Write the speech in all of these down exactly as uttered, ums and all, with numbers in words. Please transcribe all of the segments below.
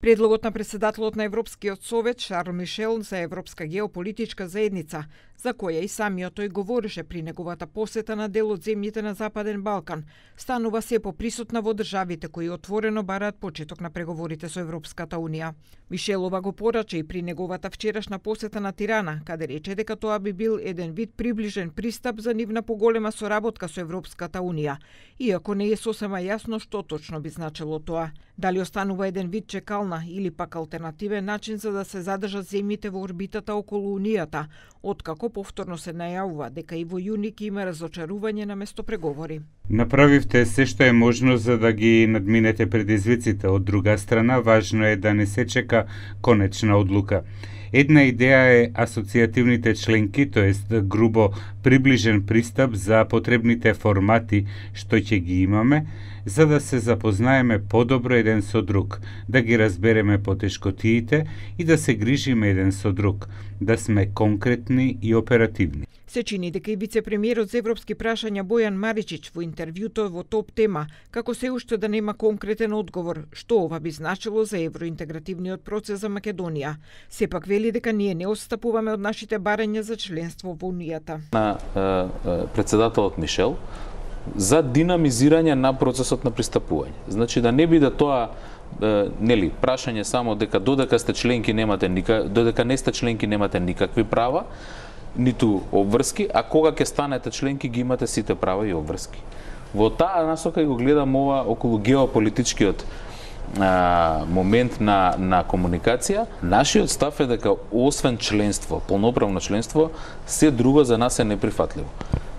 Предлогот на председателот на Европскиот совет Шарл Мишел за Европска геополитичка заедница, за која и самиот тој говореше при неговата посета на дел од земјите на Западен Балкан, станува се поприсутна во државите кои отворено бараат почеток на преговорите со Европската унија. Мишелова го порача и при неговата вчерашна посета на Тирана, каде рече дека тоа би бил еден вид приближен пристап за нивна поголема соработка со Европската унија, иако не е сосема јасно што точно би значело тоа. Дали останува еден вид чекална или пак алтернативен начин за да се задржат земјите во орбитата околу Унијата, откако повторно се најавува дека и во јуни ќе има разочарување на место преговори. Направивте се што е можно за да ги надминете предизвиците. Од друга страна, важно е да не се чека конечна одлука. Една идеја е асоцијативните членки, тоест грубо приближен пристап за потребните формати што ќе ги имаме, за да се запознаеме подобро еден со друг, да ги разбереме потешкотиите и да се грижиме еден со друг, да сме конкретни и оперативни. Се чини дека и вице-премиерот за европски прашања Бојан Маричич во интервјуто во Топ тема, како се уште да нема конкретен одговор што ова би значило за евроинтегративниот процес за Македонија. Сепак вели дека ние не отстапуваме од нашите барања за членство во Унијата. На е, председателот Мишел за динамизирање на процесот на пристапување. Значи да не биде тоа е, нели прашање само дека додека сте членки немате никак, додека не сте членки немате никакви права, ниту обврски, а кога ќе станете членки ги имате сите права и обврски. Во таа насока го гледам ова околу геополитичкиот а, момент на, на комуникација. Нашиот став е дека освен членство, полноправно членство, се друго за нас е неприфатливо.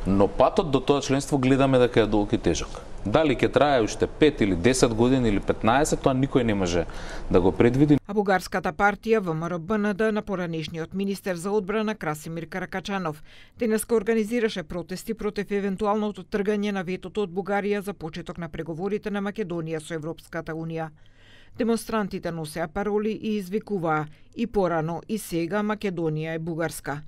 Но патот до тоа членство гледаме дека е долг и тежок. Дали ќе трае уште пет или десет години или петнаесет, тоа никој не може да го предвиди. А бугарската партија ВМРО-БНД на поранешниот министер за одбрана Красимир Каракачанов денеска организираше протести против евентуалното тргање на ветото од Бугарија за почеток на преговорите на Македонија со Европската унија. Демонстрантите носеа пароли и извикуваа и порано и сега Македонија е бугарска.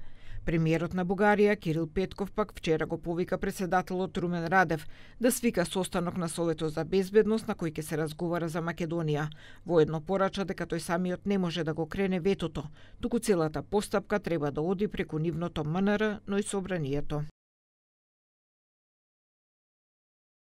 Премиерот на Бугарија Кирил Петков пак вчера го повика председателот Румен Радев да свика состанок на Советот за безбедност на кој ќе се разговара за Македонија. Воедно порача дека тој самиот не може да го крене ветото, туку целата постапка треба да оди преку нивното МНР, но и собранието.